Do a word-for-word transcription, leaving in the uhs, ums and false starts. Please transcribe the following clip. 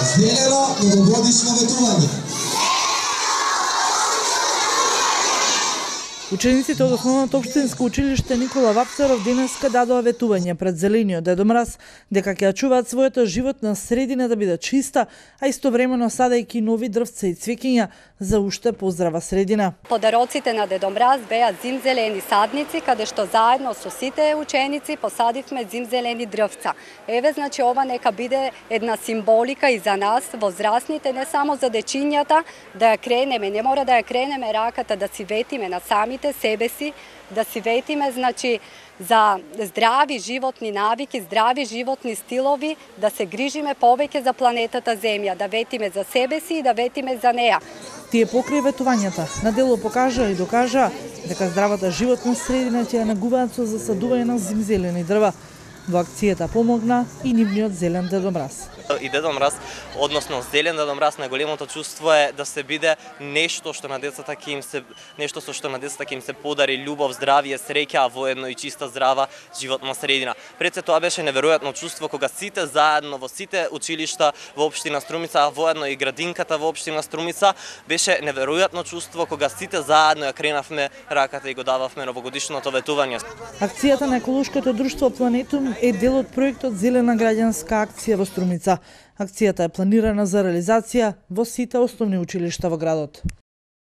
Зелено новогодишно ветување. Учениците од Основното општинско училиште Никола Вапцаров денеска дадоа ветување пред зелениот Дедо Мраз дека ќе ја чуваат својата животна средина да биде чиста, а истовремено садејќи нови дрвца и цвеќиња за уште поздрава средина. Подароците на Дедо Мраз беа зимзелени садници, каде што заедно со сите ученици посадивме зимзелени дрвца. Еве, значи, ова нека биде една символика и за нас, возрастните, не само за дечињата, да ја кренеме, не мора да ја кренеме раката, да си ветиме на самите себе си, да си ветиме, значи, за здрави животни навики, здрави животни стилови, да се грижиме повеќе за планетата Земја, да ветиме за себе си и да ветиме за неа. Тие покрај ветувањата на дело покажа и докажа дека здравата животна средина ќе ја негуваат со засадување на зимзелени дрва. Во акцијата помогна и нивниот зелен Дедо Мраз. И Дедо Мраз, односно зелен Дедо Мраз, најголемото чувство е да се биде нешто што на децата ќе им се нешто со што на децата ќе им се подари љубов, здравје, среќа, а воедно и чиста, здрава животна средина. Пред се тоа беше неверојатно чувство кога сите заедно во сите училишта во општина Струмица, а воедно и градинката во општина Струмица, беше неверојатно чувство кога сите заедно ја кренавме раката и го дававме новогодишното ветување. Акцијата на еколошкото друштво Планетум е дел од проектот Зелена граѓанска акција во Струмица. Акцијата е планирана за реализација во сите основни училишта во градот.